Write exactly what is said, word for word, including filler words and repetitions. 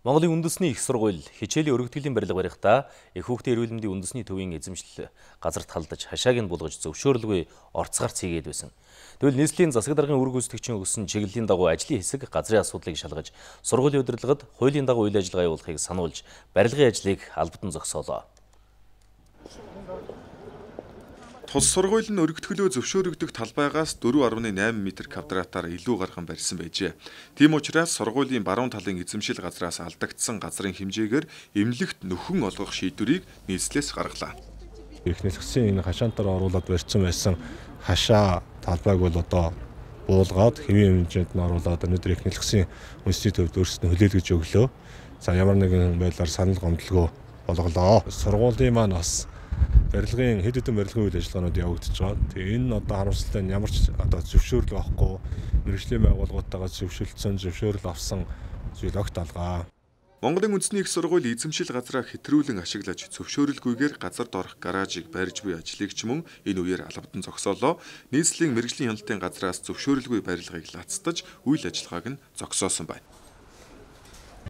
Монголын үндэсний их сургууль хичээлийн өргөтгөлийн барилга барихдаа их хүүхдийн эрүүл мэндийн үндэсний төвийн эзэмшил газарт халдаж хашааг нь булгаж зөвшөөрлгүй орцгарц хийгээд байсан. Тэгвэл нийслэлийн засаг даргын үр гүйцэтгэгчийн өгсөн чиглэлийн дагуу ажлын хэсэг газрын асуудлыг шалгаж сургуулийн удирдлагад хуулийн дагуу үйл ажиллагаа явуулахыг сануулж барилгын ажлыг албадан зогсоолоо. Тус сургууль нь өргөтгөлөө зөвшөөрөгдөх талбайгаас дөрвөн гаруй найман метр квадратаар илүү гархан барьсан байжээ. Тийм учраас сургуулийн баруун талын эзэмшил газраас алдагдсан газрын хэмжээгээр эмнэлэгт нөхөн олгох шийдвэрийг нийслэлээс гаргалаа. Эхнээс гисэн энэ хашаантаар оруулаад барьсан байсан хашаа талбайг бол одоо буулгаад хэвийн хэмжээнд нь оруулаад өнөөдөр эхнэлгсэн үндэсний төвд өөрсдөө хүлээлгэж өглөө. За ямар нэгэн байдлаар санал гомдлого болголоо. Сургуулийн маань бас барилгын хэд хэдэн барилгын үйл ажиллагаанууд явагдаж байгаа. Тэгээ энэ одоо харамсалтай нь ямар ч одоо зөвшөөрөл авахгүй мэргэжлийн байгууллагуудтайгаа зөвшөөрлцөн зөвшөөрөл авсан зүйл огт алгаа. Монголын үндэсний их сургууль эзэмшил газраа хэтрүүлэн ашиглаж зөвшөөрөлгүйгээр газарт орох гаражийг барьж буй ажлыг ч мөн энэ үеэр албадан зогсоолоо. Нийслэлийн мэргэжлийн хяналтын газраас зөвшөөрөлгүй барилгыг лацтаж үйл ажиллагааг нь зогсоосон байна.